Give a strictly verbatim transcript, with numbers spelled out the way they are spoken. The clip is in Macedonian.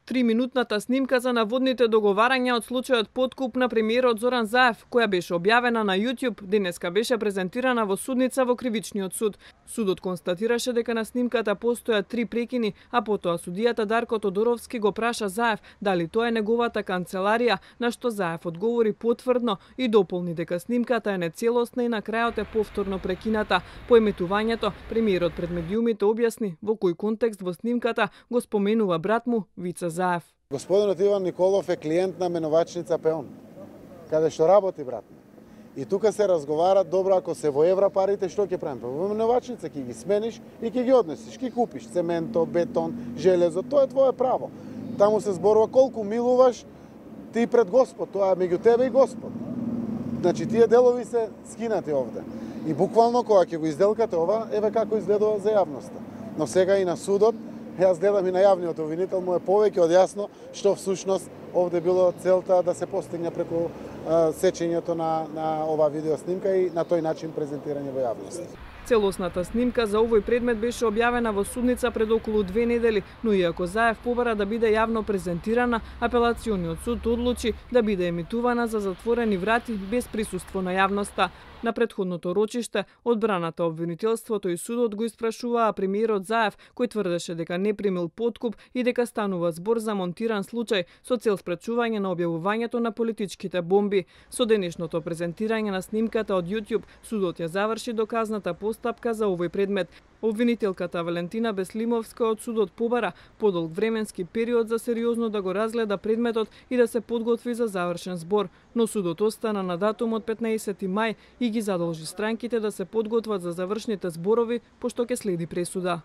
Триминутната снимка за наводните договарања од случајот подкуп на премиерот Зоран Заев, која беше објавена на YouTube, денеска беше презентирана во судница во Кривичниот суд. Судот констатираше дека на снимката постојат три прекини, а потоа судијата Дарко Тодоровски го праша Заев дали тоа е неговата канцеларија, на што Заев одговори потврдно и дополни дека снимката е нецелосна и на крајот е повторно прекината. По еметувањето, премиерот пред медиумите објасни во кој контекст во снимката го споменува брат му Вица Заев. Господинот Иван Николов е клиент на менувачница Пеон, каде што работи брат ми. И тука се разговара, добро, ако се во евра парите, што ќе правиме? Во менувачница ќе ги смениш и ќе ги однесеш, ќе купиш цементо, бетон, железо, тоа е твое право. Таму се зборува колку милуваш ти пред Господ, тоа е меѓу тебе и Господ. Значи тие делови се скинати овде. И буквално кога ќе го изделкате ова, еве како изгледува за јавноста. Но сега и на судот, јас гледам и на јавниот обвинител, му е повеќе од јасно што всушност овде било целта да се постигне преку а, сечењето на, на ова видеоснимка и на тој начин презентирање во јавност. Целосната снимка за овој предмет беше објавена во судница пред околу две недели, но иако Заев побара да биде јавно презентирана, апелациониот суд одлучи да биде емитувана за затворени врати без присуство на јавноста. На претходното рочиште, одбраната, обвинителството и судот го испрашуваа премиерот Заев, кој тврдеше дека не примил подкуп и дека станува збор за монтиран случај со цел спречување на објавувањето на политичките бомби. Со денешното презентирање на снимката од YouTube, судот ја заврши доказната постапка за овој предмет. Обвинителката Валентина Беслимовска од судот побара подолг временски период за сериозно да го разгледа предметот и да се подготви за завршен збор, но судот остана на датумот петнаесети мај и ги задолжи странките да се подготват за завршните зборови, пошто ќе следи пресуда.